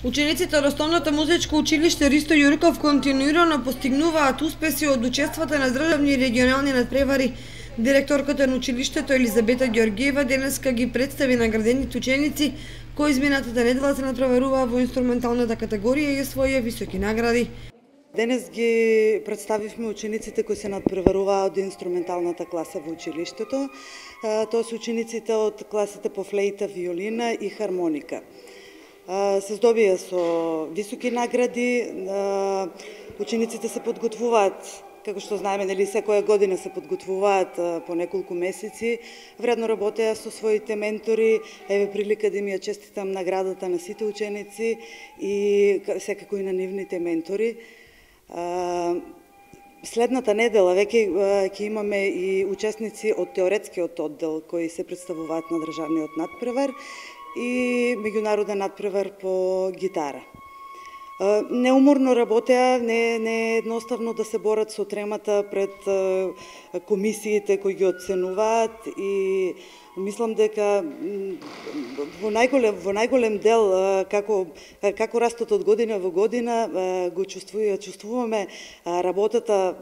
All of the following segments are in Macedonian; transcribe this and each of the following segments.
Учениците од Основното музичко училиште Ристо Јурков континуирано постигнуваат успеси од учествата на државни и регионални надпревари. Директорката на училиштето Елизабета Ѓоргиева денеска ги представи наградените ученици кои изминатата недела се надпреваруваа во инструменталната категорија и освоија високи награди. Денес ги представивме учениците кои се надпреваруваа од инструменталната класа во училиштето. Тоа се учениците од класите по флејта, виолина и хармоника. Се здобија со високи награди. Учениците се подготвуваат, како што знаеме, нели секоја година се подготвуваат по неколку месеци. Вредно работеа со своите ментори. Еве прилика да им ја честитам наградата на сите ученици и секако и на нивните ментори. Следната недела веќе ќе имаме и учесници од теоретскиот оддел кои се представуваат на државниот надпревар и меѓународен надпревар по гитара. Неуморно работеа, не е едноставно да се борат со тремата пред комисиите кои ги оценуваат и мислам дека во најголем дел како растат од година во година го чувствуваме работата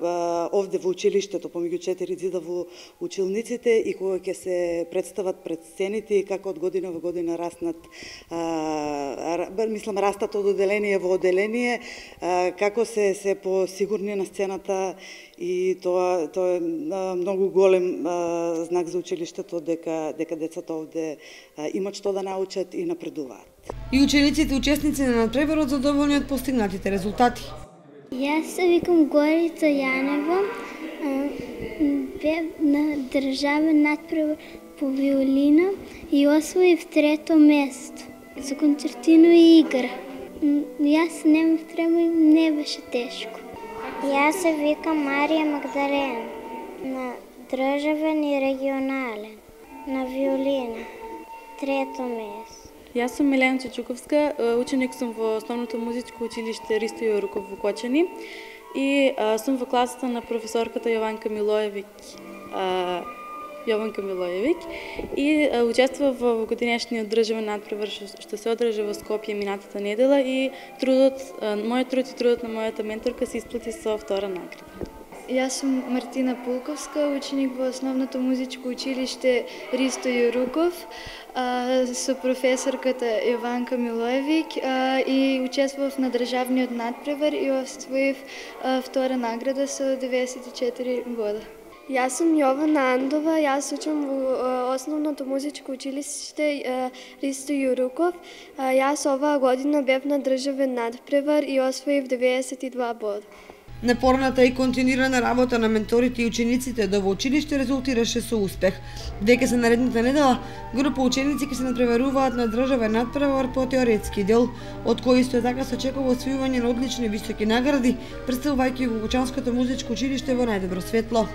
овде во училиштето помеѓу четири ѕида во училниците и кога ќе се представат пред сцените и како од година во година растат од оделение во оделение, како се посигурни на сцената и тоа е многу голем знак за училиштето дека децата овде имат што да научат и напредуваат. И учениците учесници на надпреварот задоволни од постигнатите резултати. Јас се викам Горица Јанева, бев на државен надпревар по виолина и освоив трето место за концертино и игра. Јас немав трема и не беше тешко. Јас се викам Марија Магдалена, на државен и регионален, на виолина, трето место. Јас сум Милена Чичуковска, ученик сум во Основното музичко училиште Ристо Јурков во Кочани и сум во класата на професорката Јованка Милоевиќ и учествував во годинешниот државен надпревар што се одржа во Скопје минатата недела и мојот труд и трудот на мојата менторка се исплати со втора награда. Јас сум Мартина Пулковска, ученик во Основното музичко училиште Ристо Јурков со професорката Јованка Милоевиќ и учествував на државниот надпревар и освоив втора награда со 94 бода. Јас сум Јована Андова, јас учам во Основното музичко училиште Ристо Јурков. Јас оваа година бев на државен надпревар и освоив 92 бода. Напорната и континуирана работа на менторите и учениците до во училиште резултираше со успех. Веќе се наредната недела, група ученици ќе се надпреваруваат на државен надпревар по теоретски дел, од кој исто така се очекува освојување на одлични високи награди, представувајќи го Кочанското музичко училиште во најдобро светло.